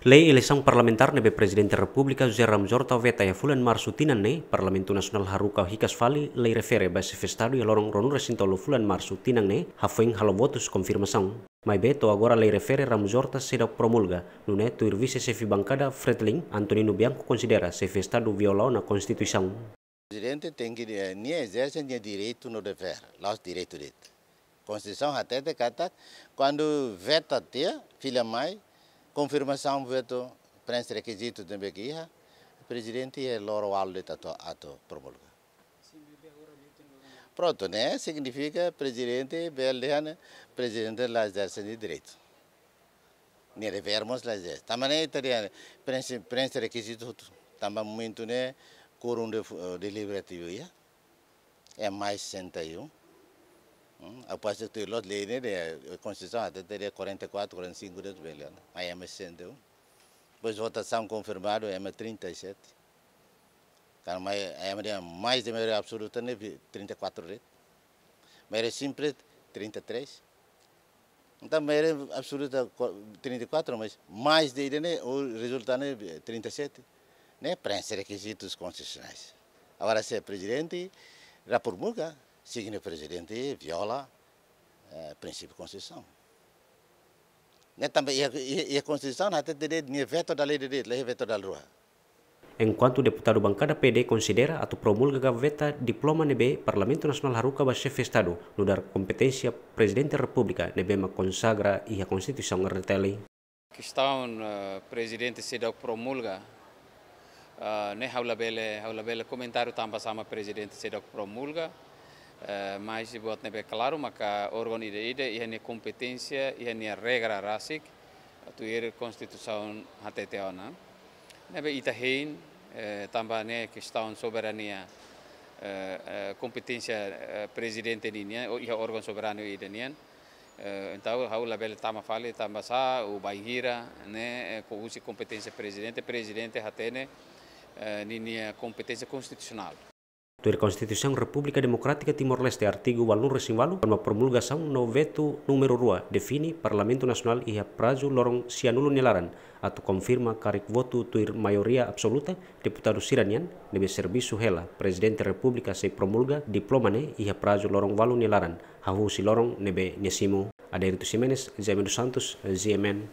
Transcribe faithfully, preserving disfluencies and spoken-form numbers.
Lei eleisaun parlamentár ne'ebé Prezidente Repúblika José Ramos Horta veta iha fulan Marsu tinan ne'e, Parlamentu Nasionál haruka hikas fali lei refere ba Xefe Estadu iha loron ruanulu-resin-tolu fulan Marsu tinan ne'e, hafoin halo votus konfirmasaun. Maibé to'o agora lei refere Ramos Horta seidauk promulga, nune'e tuir Vise-Xefe Bankada Fretilin, Antonino Bianco konsidera Xefe Estadu viola ona Konstituisaun. Prezidente tenke, eh, nia ezerse nia direitu no devér, la'ós direitu de'it. Konstituisaun hatete katak, kuandu veta tiha, fila mai, konfirmasaun votu, preenxe rekizitu ne'ebé ke iha, Prezidente iha loron ualu de'it atu, atu promulga. Prontu, ne'e signifika Prezidente bele dehan, Prezidente la ezerse nia direitu. Nia devér mós la ezerse. Tanba ne'e ita dehan, preenxe, preenxe rekizitu hotu. Tanba momentu ne'e, quórum de, eh, deliberativu iha. É mais sessenta e um. Hum, após tuir loos lei ne'e, de, Konstituisaun hatete quarenta e quatro, quarenta e cinco de'it bele, ne'e? Aí é mais sessenta e um. Depois votasaun konfirmadu, é mais trinta e sete. Karena mai, ema dehan mais de maioria absoluta ne'e vi-, trinta e quatro de'it. Maioria simples, trinta e três. Entaun, maioria absoluta, qua-, trinta e quatro, mas mais de ida ne'e, o resultadu ne'e trinta e sete. Ne'e preenxe rekizitus konstitusionais. Agora, se Prezidente la promulga, signifika Prezidente viola, eh, prinsípiu Konstituisaun. Ne'e tanba iha, iha, iha Konstituisaun hatete de'it nia veto dala ida de'it, la iha veto dala rua. Enkuantu deputadu Bankada P D konsidera atu promulga ka veta diploma ne'ebé Parlamentu Nasionál haruka ba Xefe Estadu, nu'udar kompeténsia Prezidente Repúblika ne'ebé mak konsagra iha Konstituisaun R D T L. Kestaun, eh, Prezidente seidauk promulga, eh, ne'e ha'u labele, ha'u labele komentáriu tanba sá mak Prezidente seidauk promulga, eh, mas buat ne'ebé klaru maka órgaun ida-ida iha nia kompeténsia, iha nia regra rasik, tuir Konstituisaun hatete ona. Ne'ebé ita hein, eh, tanba ne'e kestaun soberania, eh, eh, kompeténsia, eh, Prezidente ninian, ou iha órgaun soberanu ida nian. Eh, entaun, ha'u labele tama fali, tanba sá, ou bainhira, ne'e, eh, ko husi kompeténsia Prezidente, Prezidente hatene, eh, ninia kompeténsia konstitusionál. Tuir Konstituisaun Repúblika Demokrátika Timor-Leste, artigu ualunulu-resin-ualu, forma promulgasaun no vetu númeru rua, define Parlamentu Nasionál iha prazu loron sianulu nia laran, atu konfirma karik votu tuir maioria absoluta, deputadu sira-nian, ne'ebé servisu hela, Prezidente Repúblika sei promulga diploma ne'e iha prazu loron ualu nia laran, hahú husi loron ne'ebé nia simu. Adérito Ximenes, Jaime dos Santos, G M N.